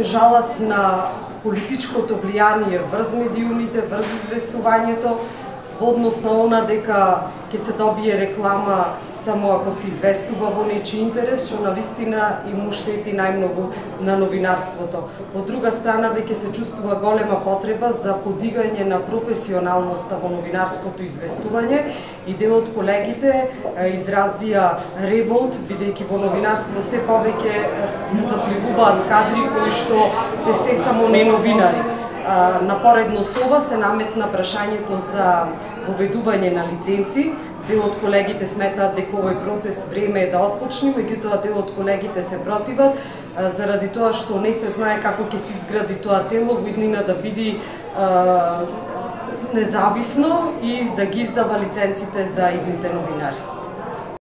жалат на политичкото влијание врз медиумите, врз известувањето, во однос на она дека ќе се добие реклама само ако се известува во нечи интерес, што навистина и му штети најмногу на новинарството. Од друга страна, веќе се чувствува голема потреба за подигање на професионалноста во новинарското известување и дел од колегите изразија револт, бидејќи во новинарство се повеќе запливуваат кадри кои што се само не новинари. Напоредно со ова се наметна прашањето за воведување на лиценци. Дел од колегите сметаат дека овој процес време е да отпочне, меѓутоа дел од колегите се противат, заради тоа што не се знае како ќе се изгради тоа тело во иднина да биде независно и да ги издава лиценците за идните новинари.